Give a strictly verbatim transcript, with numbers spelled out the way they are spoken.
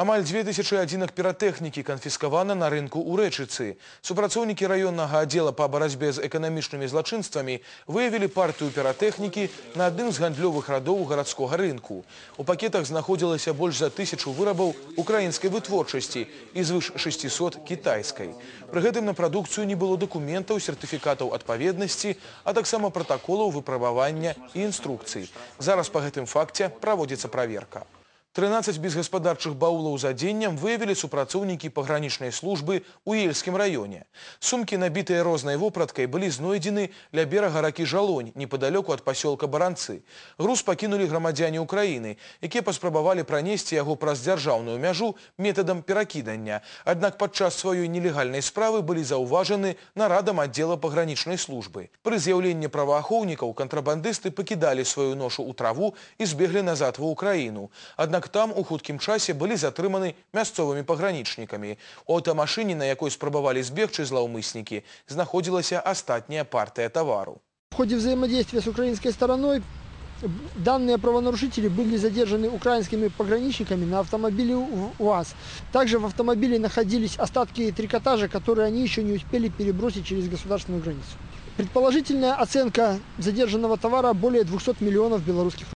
Амаль дзве тысячы адзінак піратэхнікі канфіскавана на рынку ў Рэчыцы. Супрацоўнікі раённага аддзела па барацьбе з эканамічнымі злачынствамі выявілі партыю піратэхнікі на адным з гандлёвых радоў гарадскога рынку. У пакетах знаходзілася больш за тысячу вырабаў украінскай вытворчасці і звыш шасцісот кітайскай. Пры гэтым на прадукцыю не было дакументаў, сертыфікатаў адпаведнасці, а таксама пратаколаў выпрабавання і інструкцый. Зараз па гэтым факце праводзіцца праверка. трынаццаць безгаспадарчых баулаў з адзеннем выявілі супрацоўнікі пагранічнай службы ў Ельскім раёне. Сумкі, набітыя рознай вопраткай, былі знойдзены ля берага ракі Жалонь, непадалёку ад пасёлка Баранцы. Груз пакінулі грамадзяне Украіны, якія паспрабавалі пранесці яго праз дзяржаўную мяжу метадам перакідання. Аднак падчас сваёй нелегальнай справы былі заўважаны нарадам аддзела пагранічнай службы. Пры з'яўленні праваахоўнікаў кантрабандысты пакідалі сваю ношу ў траву і збеглі назад ва Украіну. Аднак там у хуткім часе былі затрыманы мясцовымі пагранічнікамі. У аўтамашыне, на якой спрабавалі збегчы злаўмыснікі, знаходзілася астатняя партия тавару. В ходе взаимодействия с украинской стороной данные правонарушители были задержаны украинскими пограничниками на автомобиле УАЗ. Также в автомобиле находились остатки трикотажа, которые они еще не успели перебросить через государственную границу. Предположительная оценка задержанного товара более двухсот миллионов белорусских рублей.